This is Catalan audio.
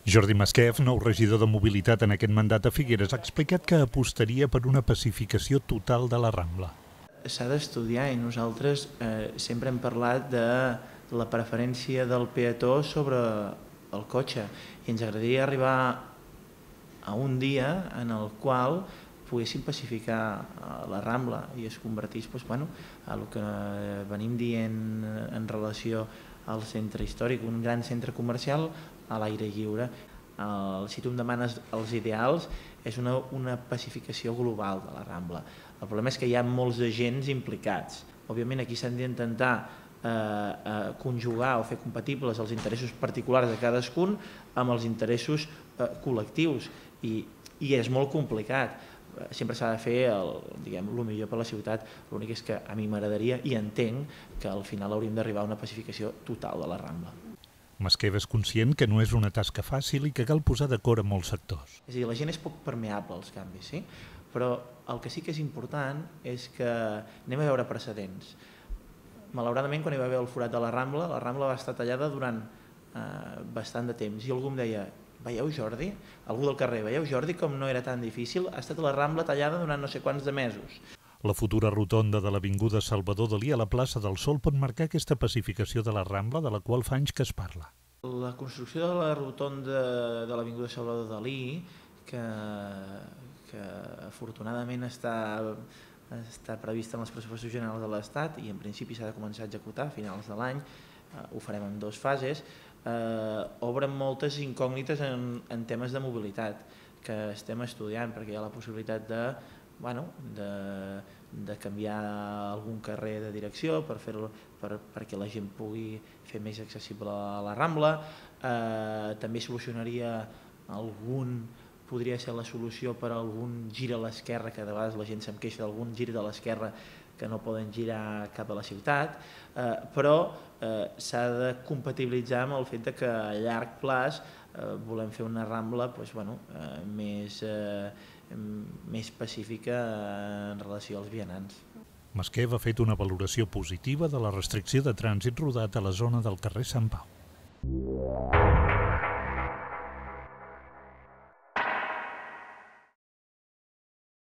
Jordi Masquef, nou regidor de mobilitat en aquest mandat a Figueres, ha explicat que apostaria per una pacificació total de la Rambla. S'ha d'estudiar i nosaltres sempre hem parlat de la preferència del peató sobre el cotxe i ens agradaria arribar a un dia en el qual poguéssim pacificar la Rambla i es convertís a el que venim dient en relació al centre històric, un gran centre comercial a l'aire lliure. Si tu em demanes els ideals, és una pacificació global de la Rambla. El problema és que hi ha molts agents implicats. Òbviament aquí s'han d'intentar conjugar o fer compatibles els interessos particulars de cadascun amb els interessos col·lectius i és molt complicat. Sempre s'ha de fer el millor per la ciutat, l'únic és que a mi m'agradaria i entenc que al final hauríem d'arribar a una pacificació total de la Rambla. Masquef és conscient que no és una tasca fàcil i que cal posar d'acord a molts sectors. És a dir, la gent és poc permeable als canvis, sí? Però el que sí que és important és que anem a veure precedents. Malauradament, quan hi va haver el forat de la Rambla va estar tallada durant bastant de temps i algú em deia: veieu, Jordi? Algú del carrer, veieu, Jordi, com no era tan difícil? Ha estat la Rambla tallada durant no sé quants de mesos. La futura rotonda de l'Avinguda Salvador Dalí a la plaça del Sol pot marcar aquesta pacificació de la Rambla, de la qual fa anys que es parla. La construcció de la rotonda de l'Avinguda Salvador Dalí, que afortunadament està prevista en els pressupostos generals de l'Estat i en principi s'ha de començar a executar a finals de l'any, ho farem en 2 fases, obren moltes incògnites en temes de mobilitat que estem estudiant, perquè hi ha la possibilitat de canviar algun carrer de direcció perquè la gent pugui fer més accessible a la Rambla. També podria ser la solució per a algun gir a l'esquerra, que de vegades la gent se'm queixa d'algun gir de l'esquerra que no poden girar cap a la ciutat, però s'ha de compatibilitzar amb el fet que a llarg plaç volem fer una Rambla més pacífica en relació als vianants. Masquef ha fet una valoració positiva de la restricció de trànsit rodat a la zona del carrer Sant Pau.